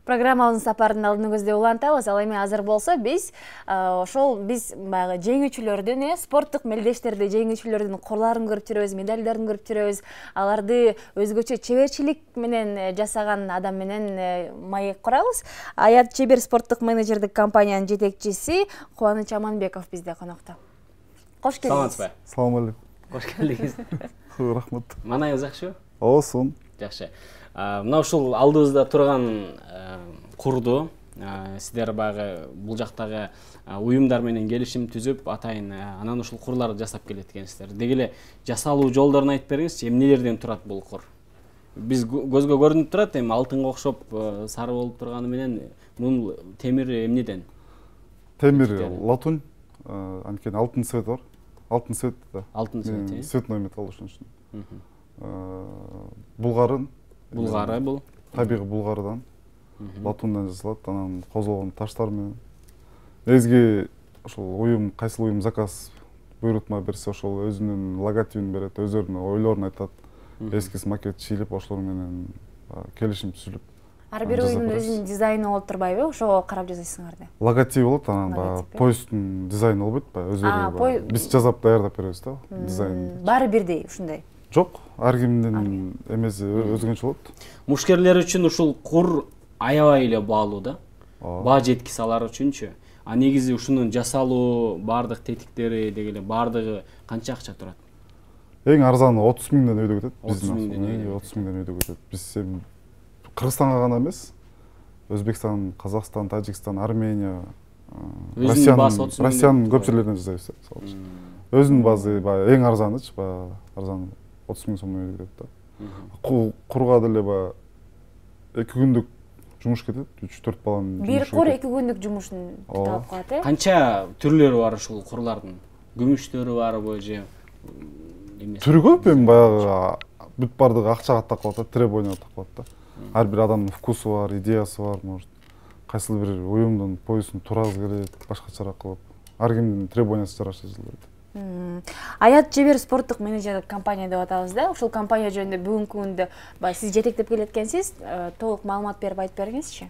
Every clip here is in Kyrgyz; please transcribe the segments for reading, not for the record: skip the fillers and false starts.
Программабыздын сапарынын алдын көздөй улантабыз. Ал эми азыр болсо биз баягы жеңүүчүлөрдүн, спорттук мелдештерди жеңүүчүлөрдүн корларын көрүп жүрөбүз, медалдарын көрүп жүрөбүз. Аларды өзгөчө чеберчилик менен жасаган адам менен маек курабыз. Аят Чебер спорттук менеджердик компаниянын жетекчиси Кубаныч Аманбеков бизде конокто. Кош келдиңиз. Саламатсызбы? Салам алейкум. Кош келдиңиз. Рахмат. Манайыңыз жакшыбы? Оосун. Жакшы. Мына ушул алдыбызда турган курду сиздер баягы бул жактагы уюмдар менен келишим түзүп, атайын анан ушул курларды жасап келет экенсиздер. Деги эле жасалуу жолдорун айтып бериңизчи, эмнелерден турат бул кур? Биз көзгө көрүнүп турат, эми алтынга окшоп сары болуп турганы менен бул темир эмнеден? Темир латунь, анткени алтын цвет бар. Алтын цвет да. Алтын цвет, цветной металл ошон үчүн. Булгарын. Булгары бул. Табигый булгардан. Латундан жасалат, анан козулган таштар менен. Негизги ошол уюм, кайсыл уюм заказ буйрутма берсе, ошол өзүнүн логотипин берет, өздөрүнүн ойлорун айтат. Эскиз макет чийилип, ошолор менен келишим түзүлүп. Ар бир уюмдун өзүнүн дизайны болуп турбайбы? Ошого карап жасайсыңарды. Логотип болот, анан баягы поезддун дизайны болбойт баягы өзүрү. Биз жазап даярдап беребиз да, дизайнын. Баары бирдей ушундай. Жок, ар кимдин эмеси өзгөчө болот. Мушкерлер үчүн ушул кур аябай эле баалуу да. Баа жеткиси алар үчүнчү. А негизи ушунун жасалуу баардык тетиктери деги эле баардыгы канча акча турат? Эң арзаны 30 миңден өйдө кетет. 30 миңден өйдө кетет. Биз Кыргызстанга гана эмес, Өзбекстан, Казакстан, Тажикстан, Армения, Россиянын көп жерлеринен жасайбыз. Өзүнүн базы баягы эң арзанычы, баягы арзан 30 миң сом өйдө кетет да. Курга деле баягы 2 күндүк жумуш кетет, 3-4 баланын жумушу. Бир кур 2 күндүк жумушун алып коет, э? Канча түрлөрү бар ушул курлардын? Күмүштөрү барбы же эмес? Түрү көп, эми баягы бүт бардыгы акчага такалат да, требованияга такалат да. Ар бир адамдын вкусу бар, идеясы бар, может. Кайсыл бир уюмдун поездун туразы келет, башкачараак кылып. Ар кимдин требованиясы жараша жазылат. Аят Чебер спорттук менеджерлик компания деп атабыз да. Ушул компания жөнүндө бүгүнкү күндө сиз жетектеп келет экенсиз. Толук маалымат берип айтып бериңизчи.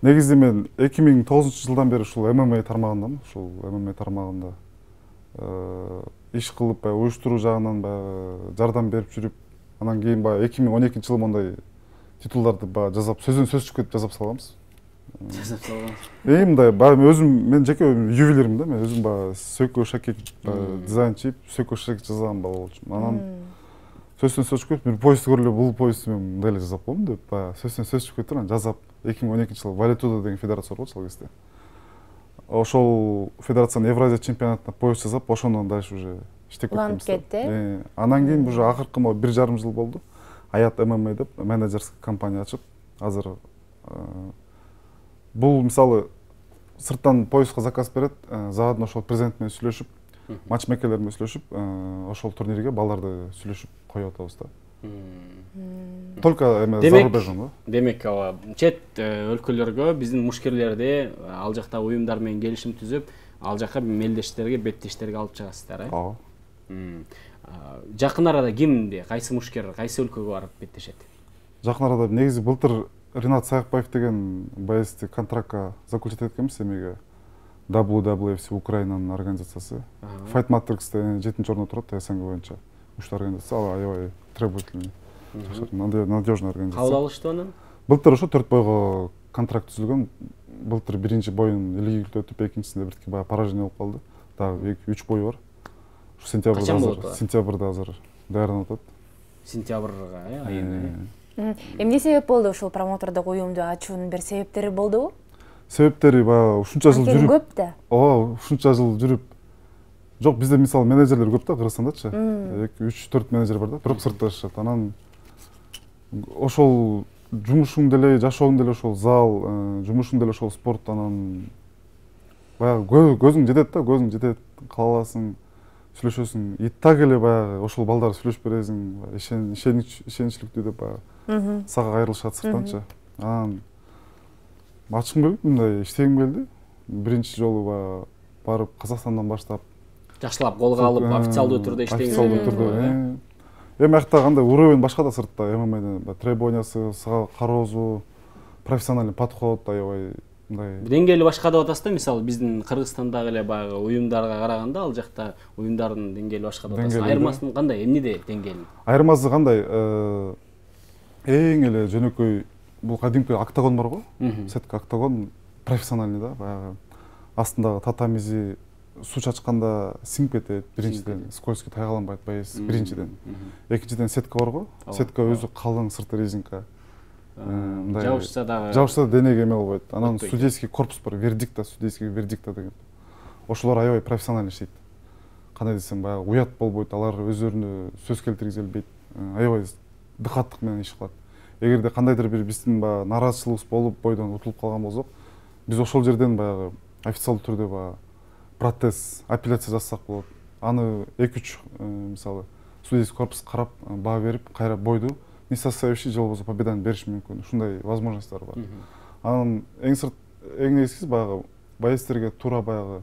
Негизи мен 2009-жылдан бери ушул ММА тармагындамын. Ушул ММА тармагында иш кылып, уюштуруу жагынан жардам берип жүрүп, анан кийин 2012-жылы мондай титулдарды жазап, сөздөн сөз чыгып жазап салганбыз. Жасап салганбыз. Мындай өзүм, мен жеке ювелирмин да, мен өзүм сөйкө шакек дизайн чийип, сөйкө шакек жазган бала болчумун. Анан сөздөн сөз чыгып, бир поезд көрүп, бул поездди мен мындай эле жазап коем деп, сөздөн сөз чыгып кетти, анан жазап 2012-жылы Валетуда деген федерация болчу ал кезде. Ошол федерациянын Евразия чемпионатына поезд жазап, ошондон дальше уже иштеп кеттим. Анан кийин уже акыркы 1,5 жыл болду. Аят ММА деп менеджерский компания ачып, азыр бул мисалы сырттан поездга заказ берет, заодно ошол президент менен сүйлөшүп, матчмейкерлер менен сүйлөшүп, ошол турнирге балдарды сүйлөшүп коюп атабыз да. Только зарубежный да. Демек, чет өлкөлөргө биздин мушкерлерди ал жакта уюмдар менен келишим түзүп, ал жака мелдештерге, беттештерге алып чыгасыздар, э? Жакын арада кимди, кайсы мушкер, кайсы өлкөгө барып беттешет? Жакын арада негизи былтыр Ринат Саякбаев деген боецти контрактка заключить эткенбиз, эмеге WWFC Украинанын организациясы. Fight Matrix'te 7-чи орунда турат СНГ боюнча. Ушул организация ал аябай требовательный, надежный организация. Кабыл алышты анан? Былтыр ошо 4 бойго контракт түзүлгөн. Былтыр биринчи боюн илгиликтүү өтүп, экинчисинде биртике поражение болуп калды. Дагы 3 бою бар. Сентябрда азыр даярданып атат. Сентябрга, айында. Эмне себеп болду ушул промотордук уюмду ачуунун бир себептери болдубу? Себептери ушунча жыл жүрүп. Көп да. Ушунча жыл жүрүп. Жок, бизде мисалы менеджерлер көп да, Кыргызстандачы. 3-4 менеджер бар да, бирок сыртта жашашат. Анан ошол жумушуң деле, жашооң деле ошол зал, жумушуң деле ошол спорт, анан баягы көзүң жетет да, көзүң жетет, кааласың, сүйлөшөсүң. И так эле баягы ошол балдар сүйлөшүп бересиң, ишеничиликтүү деп баягы сага кайрылышат сырттанчы. Анан ачкым келип, мындай иштегим келди. Биринчи жолу барып Казакстандан баштап жакшылап колго алып, официалдуу түрдө иштегиңиз. Официалдуу түрдө. Эми акта кандай уровень башка да сыртта, ММАда требованиясы, сага кароозу, профессиональный подход, аябай мындай деңгээли башка деп атасыз да, мисалы биздин Кыргызстандагы эле баягы уюмдарга караганда ал жакта уюмдардын деңгээли башка деп атасыз. Айырмасы кандай? Эмнеде деңгээли? Айырмасы кандай? Эң эле жөнөкөй бул кадимки октагон бар го. Сетка октагон профессиональный да, баягы астындагы татамизи суу чачканда сиңип кетет. Биринчиден скользкий тайгаланбайт байыз, биринчиден. Экинчиден сетка бар го. Сетка өзү калың сырты резинка. Жабышса дагы денеге эме болбойт. Анан судейский корпус бар, вердикта, судейский вердикта деген. Ошолор аябай профессионально иштейт. Кандай десем, баягы уят болбойт, алар өздөрүнө сөз келтиргизе албайт. Аябай дыкаттык менен иш кылат. Эгерде кандайдыр бир биздин баягы нааразычылыгыбыз болуп, бойдон утулуп калган болсок, биз ошол жерден баягы официалдуу түрдө баягы протест, апелляция жасасак болот. Аны 2-3 мисалы судейский корпус карап, баа берип, кайра бойду несостоявщий же болбосо победаны бериш мүмкүн. Ушундай возможностьтор бар. Анан эң негизгиси баягы байецтерге туура баягы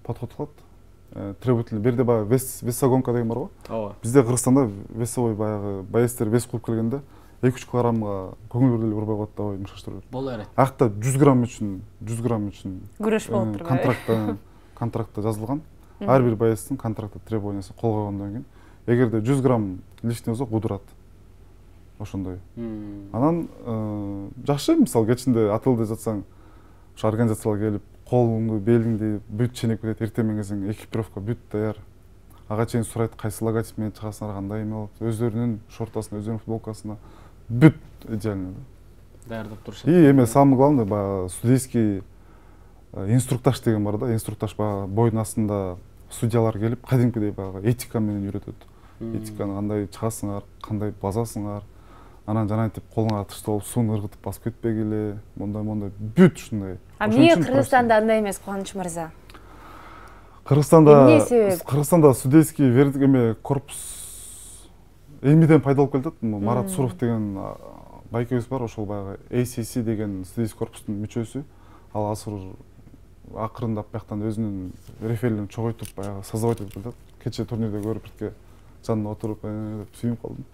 подход кылат. Требовательный берде баягы весогонка деген бар го. Ооба. Бизде Кыргызстанда весовой баягы байецтер вес кууп келгенде 2-3 килограммга көңүл деле урбай коет да, ой мышаштырып. Боло берет. Акта 100 грамм үчүн күрөш болуп турбайбы? Контрактта жазылган. Ар бир байецтин контрактта требованиясы кол койгондон кийин, эгерде 100 грамм лишний болсо кудурат. Ошондой. Анан жакшы, мисалы кечинде атылды жатсаң, ошо организациялар келип, колуңду, белиңди бүт ченеп кетет, эртең менен келсең экипировка бүт даяр. Ага чейин сурайт, кайсы логотип менен чыгасыңар, кандай эме болот, өздөрүнүн шортасына, өздөрүнүн футболкасына бүт идеально да. Даярдап турушат. И эме самый главный баягы судейский инструктаж деген бар да, инструктаж баягы бойдун астында судьялар келип, кадимкидей баягы этика менен үйрөтөт. Этиканы кандай чыгасыңар, кандай басасыңар, анан жанагынтип колуңа тышты болуп сууну ыргытып басып кетпегиле, мондай бүт ушундай. Эмне Кыргызстанда андай эмес, Кубаныч мырза? Кыргызстанда судейский вердик эме корпус эмнеден пайда болуп келатат? Марат Суров деген байкебиз бар, ошол баягы ACC деген судейский корпустун мүчөсү. Ал акырындап бияктан өзүнүн реферлерин чогойтуп баягы создавать этип келатат. Кечээ турнирде көрүп бирке жанына отуруп сүйүнүп калдым.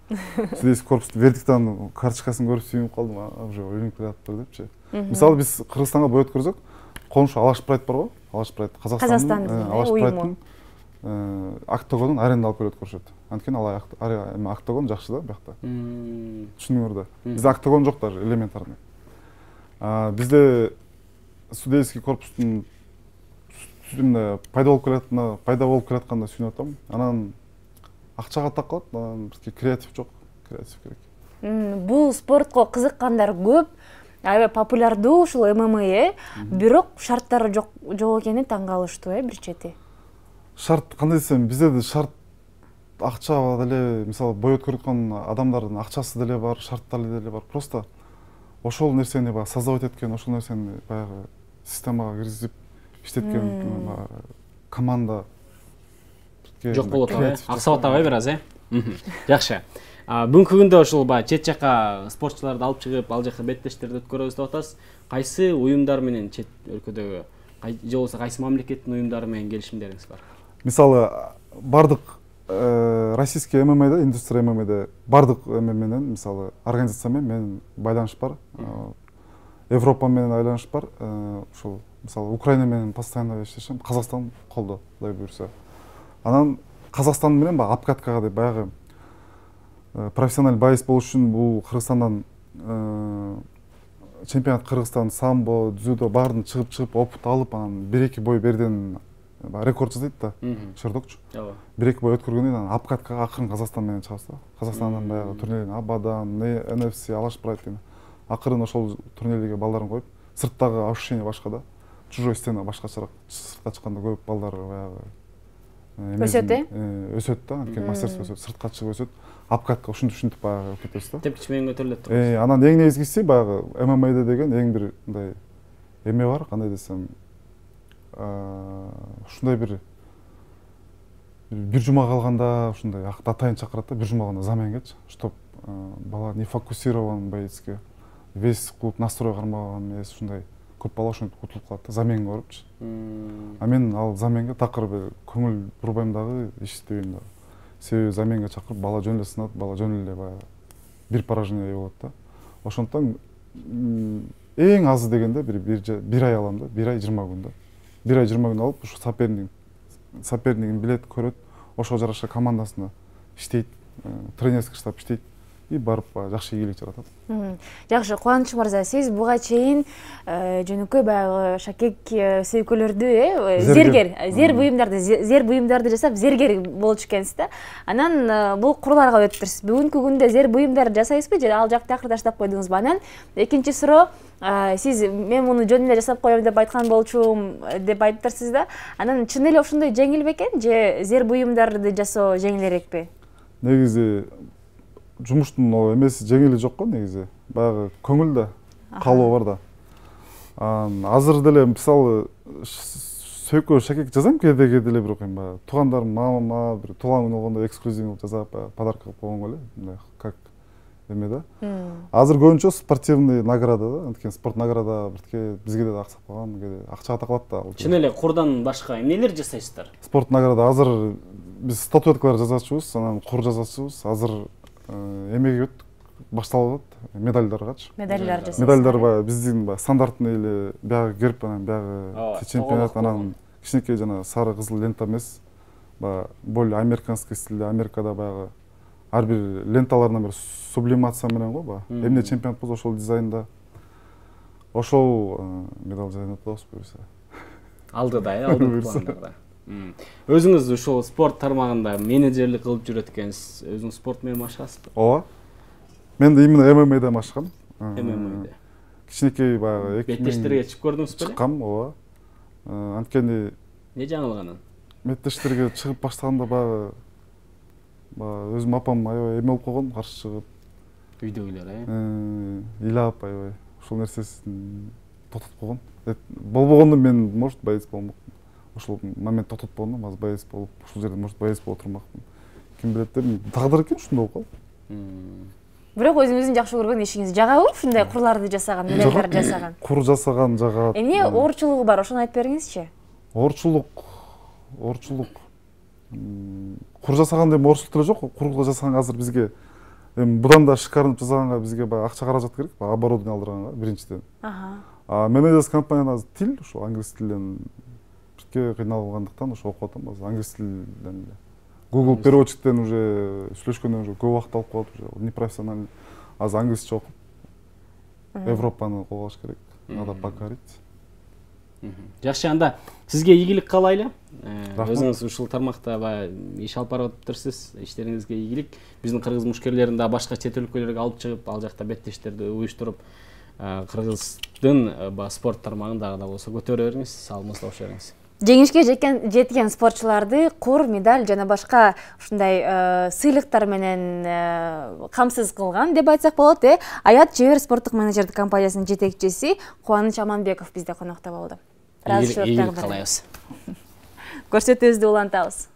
Судейский корпустун вердиктанын карточкасын көрүп сүйүнүп калдым, уже үйрөнүп келатыптыр депчи. Мисалы биз Кыргызстанга бой өткөрсөк, коңшу Алаш Прайд бар го? Алаш Прайд Казакстандын Алаш Прайдтын октагонун аренда алып келип өткөрүшөт. Анткени ал октагон жакшы да биякта. Түшүнүңөр да. Бизде октагон жок даже элементарный. Бизде судейский корпустун пайда болуп келатканда сүйүнүп атам. Анан акчага такалат, анан бизге креатив жок, креатив керек. Бул спортко кызыккандар көп, аябай популярдуу ушул ММА, бирок шарттары жок экени таң калыштуу, бир чети. Шарт кандай десем, бизде да шарт акча деле, мисалы бой өткөрүп аткан адамдардын акчасы деле бар, шарттары деле бар. Просто ошол нерсени баягы создавать эткен, ошол нерсени баягы системага киргизип иштеткен команда жок болот, аксап атабай бир аз, Жакшы. Бүгүнкү күндө ушул баягы чет жака спортчуларды алып чыгып, ал жака беттештерди өткөрөбүз деп атасыз. Кайсы уюмдар менен чет өлкөдөгү же болбосо кайсы мамлекеттин уюмдары менен келишимдериңиз бар? Мисалы бардык российский ММАда, индустрия ММАда бардык эме менен, мисалы организация менен байланыш бар. Европа менен байланыш бар. Ушул мисалы Украина менен постоянно иштешем, Казакстан колдо, Кудай буйрса. Анан Казакстан менен баягы обкаткага деп баягы профессиональ байец болуш үчүн бул Кыргызстандан чемпионат Кыргызстан самбо, дзюдо баарын чыгып опыт алып, анан 1-2 бой берден рекорд жасайт да. Шырдокчу. 1-2 бой өткөргөндөн кийин обкаткага акырын Казакстан менен чыгабыз да. Казакстандан баягы турнирлерден Абадан, NFC, Алаш Прайд деген акырын ошол турнирлерге балдарын коюп, сырттагы ощущение башка да. Чужой стена башкачараак, сыртка чыкканда көп балдар баягы өсөт да, анткени мастерство өсөт, сыртка чыгып өсөт. Обкатка ушинтип баягы кетебиз да. Тепкич менен көтөрүлөт. Анан эң негизгиси баягы ММАда деген эң бир мындай эме бар, кандай десем, ушундай бир жума калганда ушундай атайын чакырат да, бир жума калганда замен келчи, чтоб бала не фокусирован боецке, вес кылып настрой кармаган эмес, ушундай көп бала ошентип утулуп калат да, замен көрүпчү. Мен ал заменге такыр көңүл бурбайм дагы, иштебейм дагы. Себеби заменге чакырып бала жөн эле сынат, бала жөн эле баягы бир поражение болот да. Ошондуктан эң азы дегенде бир ай алам да, 1 ай 20 күн да. 1 ай 20 күн алып, ушу сопернигин билет, көрөт, ошого жараша командасына иштейт, тренерский штаб иштейт и барып жакшы ийгилик жаратат. Жакшы, Кубаныч мырза, сиз буга чейин жөнөкөй баягы шакек сөйкөлөрдү, зер буюмдарды жасап, зергер болчу экенсиз да. Анан бул курларга өттүрсүз. Бүгүнкү күндө зер буюмдарды жасайсызбы же ал жакты акыр таштап койдуңузбу? Анан экинчи суроо, сиз мен муну жөн эле жасап коем деп айткан болчумун деп айтыптырсыз да. Анан чын эле ошондой жеңил бекен же зер буюмдарды жасоо жеңилирээкпи? Негизи жумуштун эмеси жеңили жок го негизи. Баягы көңүл да, каалоо бар да. Азыр деле мисалы сөйкө шакек жазам кээде эле, бирок эми баягы туугандарым мама бир туулган күнү болгондо эксклюзив жасап подарка кылып койгонго эле, мындай как эме да. Азыр көбүнчө спортивный награда да, анткени спорт награда биртке бизге да аксап калган, кээде акчага такалат да. Чын эле курдан башка эмнелер жасайсыздар? Спорт награда азыр биз статуэткалар жасачубуз, анан кур жасачубуз. Азыр эмеге башталып атат, медальдаргачы. Медальдар жасайсыз. Медальдар баягы биздин стандартный эле биягы герб, анан биягы чемпионат, анан кичинекей жана сары кызыл лента эмес, баягы более американский стилде, Америкада баягы ар бир ленталарына бир сублимация менен го, баягы эмне чемпионат болсо ошол дизайнда, ошол медаль дизайн атабыз буюрса. Алдыда, алдыңкы пландарда. Өзүңүз ушул спорт тармагында менеджерлик кылып жүрөт экенсиз. Өзүңүз спорт менен машыгасызбы? Ооба. Мен да именно ММА'да машыгам. ММА'да. Кичинекей баягы 2000 беттештерге чыгып көрдүңүз беле? Чыккам, ооба. Анткени эмне жаңылганын? Беттештерге чыгып баштаганда баягы өзүм апам аябай эме болуп койгон, каршы чыгып. Үйдөгүлөр, ыйлап аябай ушул нерсесин токтотуп койгон. Болбогондо мен может боец болмокмун. Ошол момент токтотуп койгондо азыр боец болуп, ушул жерде может боец боло турмакмын. Ким билет деп, тагдыр экен ушундай болуп калды. Бирок өзүңүздүн жакшы көргөн ишиңиз жагабы ушундай курларды жасаган, медальдарды жасаган? Кур жасаган жагат. Эмне оорчулугу бар, ошону айтып бериңизчи. Оорчулук. Кур жасаганда эми оорчулук деле жок. Курга жасаганга азыр бизге эми будан да шикарынып жасаганга бизге баягы акча каражат керек, оборудование алдырганга биринчиден. Менеджерский компанияда азыр тил, ошол англис тилден бирке кыйналгандыктан ошо окуп атам азыр англис тилден. Google переводчиктен уже сүйлөшкөндөн уже көп убакыт алып коет, уже непрофессиональный. Азыр англисче окуп Европаны колго алыш керек. Надо покорить. Жакшы, анда сизге ийгилик каалайлы. Өзүңүз ушул тармакта иш алып барып атыптырсыз. Иштериңизге ийгилик. Биздин кыргыз мушкерлерин да башка чет өлкөлөргө алып чыгып, ал жакта беттештерди уюштуруп, кыргыздын спорт тармагын дагы да болсо көтөрө бериңиз, салымыңызды бериңиз. Жеңишке жеткен спортчуларды кур, медаль жана башка ушундай сыйлыктар менен камсыз кылган деп айтсак болот. Аят Чебер спорттук менеджерлик компаниясынын жетекчиси Кубаныч Аманбеков бизде конокто болду. Ийгилик каалайбыз. Көрсөтүүбүздү улантабыз.